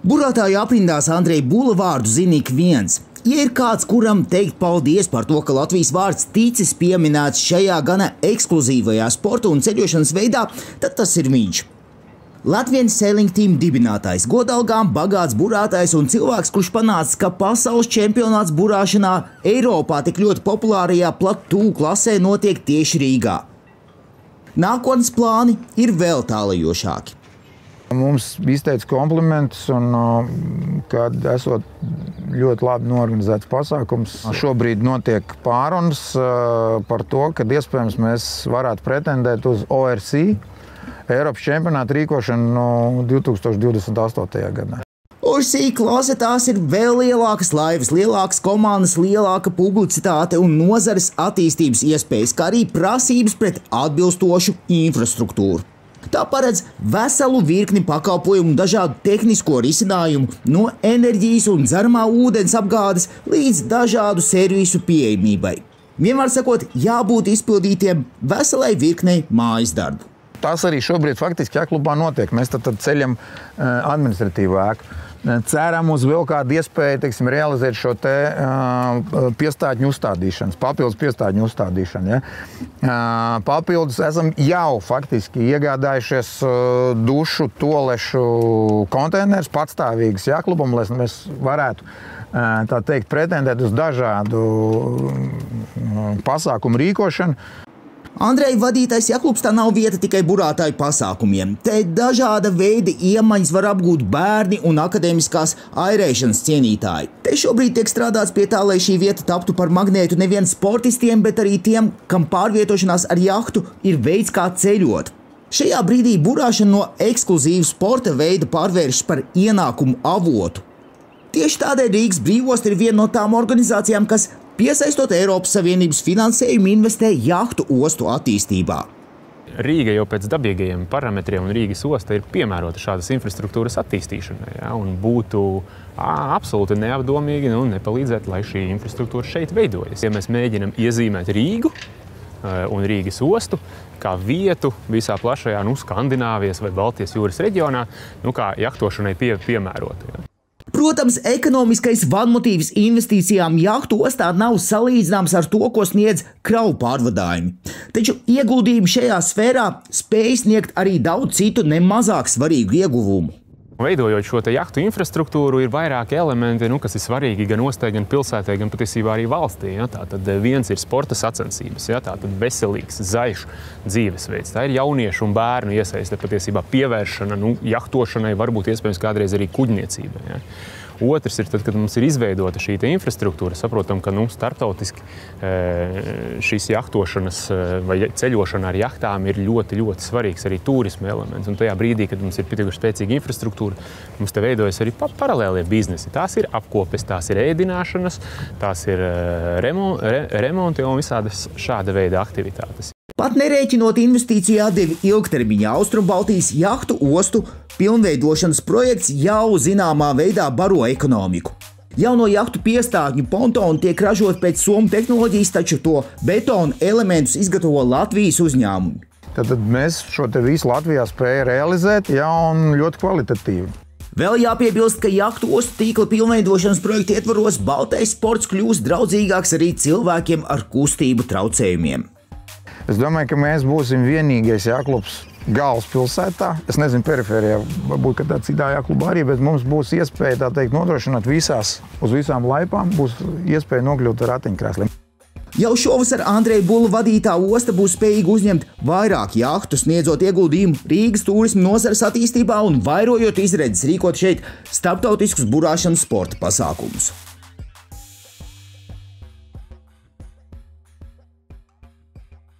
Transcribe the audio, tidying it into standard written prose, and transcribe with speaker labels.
Speaker 1: Burātāju aprindās Andreja Bula vārdu zina ik viens. Ja ir kāds, kuram teikt paldies par to, ka Latvijas vārds ticis pieminēts šajā gana ekskluzīvajā sporta un ceļošanas veidā, tad tas ir viņš. Latvian Sailing Team dibinātājs, godalgām bagāts burātājs un cilvēks, kurš panāca, ka pasaules čempionāts burāšanā Eiropā tik ļoti populārajā platū klasē notiek tieši Rīgā. Nākotnes plāni ir vēl tālajošāki.
Speaker 2: Mums izteica komplimentus, kad esot ļoti labi norganizēts pasākums. Šobrīd notiek pārunas par to, kad iespējams mēs varētu pretendēt uz ORC Eiropas čempionātu rīkošanu 2028. gadā.
Speaker 1: ORC klase tās ir vēl lielākas laivas, lielākas komandas, lielāka publicitāte un nozares attīstības iespējas, kā arī prasības pret atbilstošu infrastruktūru. Tā paredz veselu virkni pakalpojumu, dažādu tehnisko risinājumu, no enerģijas un dzeramā ūdens apgādes līdz dažādu servisu pieejamībai. Vienmēr sakot, jābūt izpildītiem veselai virknei mājas darbu.
Speaker 2: Tas arī šobrīd faktiski jāklubā notiek. Mēs tad ceļam administratīvu ēku. Ceram uz vēl kādu iespēju, teiksim, realizēt šo te piestātņu uzstādīšanas, papildus piestātņu uzstādīšanu. Ja? Papildus esam jau faktiski iegādājušies dušu, tolešu konteinerus patstāvīgas jāklubam, lai mēs varētu, tā teikt, pretendēt uz dažādu pasākumu rīkošanu.
Speaker 1: Andreja vadītais jaklubs tā nav vieta tikai burātāju pasākumiem. Te dažāda veida iemaņas var apgūt bērni un akadēmiskās airēšanas cienītāji. Te šobrīd tiek strādāts pie tā, lai šī vieta taptu par magnētu nevien sportistiem, bet arī tiem, kam pārvietošanās ar jahtu ir veids, kā ceļot. Šajā brīdī burāšana no ekskluzīva sporta veida pārvēršas par ienākumu avotu. Tieši tādēļ Rīgas brīvosta ir viena no tām organizācijām, kas piesaistot Eiropas Savienības finansējumu investē jahtu ostu attīstībā.
Speaker 3: Rīga jau pēc dabīgajiem parametriem un Rīgas osta ir piemērota šādas infrastruktūras attīstīšanai. Ja, un būtu absolūti neapdomīgi nepalīdzēt, lai šī infrastruktūra šeit veidojas. Ja mēs mēģinam iezīmēt Rīgu un Rīgas ostu kā vietu visā plašajā Skandināvijas vai Baltijas jūras reģionā, kā jahtošanai piemērotu. Ja.
Speaker 1: Protams, ekonomiskais vadmotīvs investīcijām jahtu ostā nav salīdzināms ar to, ko sniedz kravu pārvadājumi. Taču ieguldījumi šajā sfērā spēj sniegt arī daudz citu nemazāk svarīgu ieguvumu.
Speaker 3: Veidojot šo jahtu infrastruktūru, ir vairāki elementi, kas ir svarīgi gan ostai, gan pilsētai, gan patiesībā arī valstī. Ja? Tātad viens ir sporta sacensības, ja? Tātad veselīgs, zaļš dzīvesveids. Tā ir jauniešu un bērnu iesaiste, patiesībā pievēršana jahtošanai, varbūt iespējams kādreiz arī kuģniecībai. Ja? Otrs ir tad, kad mums ir izveidota šī infrastruktūra, saprotam, ka starptautiski šīs jahtošanas vai ceļošana ar jahtām ir ļoti, ļoti svarīgs arī turisma elements. Un tajā brīdī, kad mums ir pietiekuši spēcīga infrastruktūra, mums te veidojas arī paralēlie biznesi. Tās ir apkopes, tās ir ēdināšanas, tās ir remonti un visādas šāda veida aktivitātes.
Speaker 1: Pat nerēķinot investīciju atdevi ilgtermiņā, Austrumbaltijas jahtu ostu pilnveidošanas projekts jau zināmā veidā baro ekonomiku. Jauno jahtu piestātņu pontoni tiek ražot pēc somu tehnoloģijas, taču to betonu elementus izgatavo Latvijas uzņēmumi.
Speaker 2: Tad mēs šo te visu Latvijā spēju realizēt un ļoti kvalitatīvi.
Speaker 1: Vēl jāpiebilst, ka jahtu ostu tīkla pilnveidošanas projekta ietvaros baltais sports kļūs draudzīgāks arī cilvēkiem ar kustību traucējumiem.
Speaker 2: Es domāju, ka mēs būsim vienīgais jāklubs galvaspilsētā. Es nezinu, perifērijā, varbūt kādā citā jāklubā arī, bet mums būs iespēja, tā teikt, nodrošināt uz visām laipām, būs iespēja nokļūt ar ratiņkrēsliem.
Speaker 1: Jau šovasar Andreja Bula vadītā osta būs spējīga uzņemt vairāk jahtu, sniedzot ieguldījumu Rīgas turisma nozares attīstībā un vairojot izredzes rīkot šeit starptautiskus burāšanas sporta pasākumus.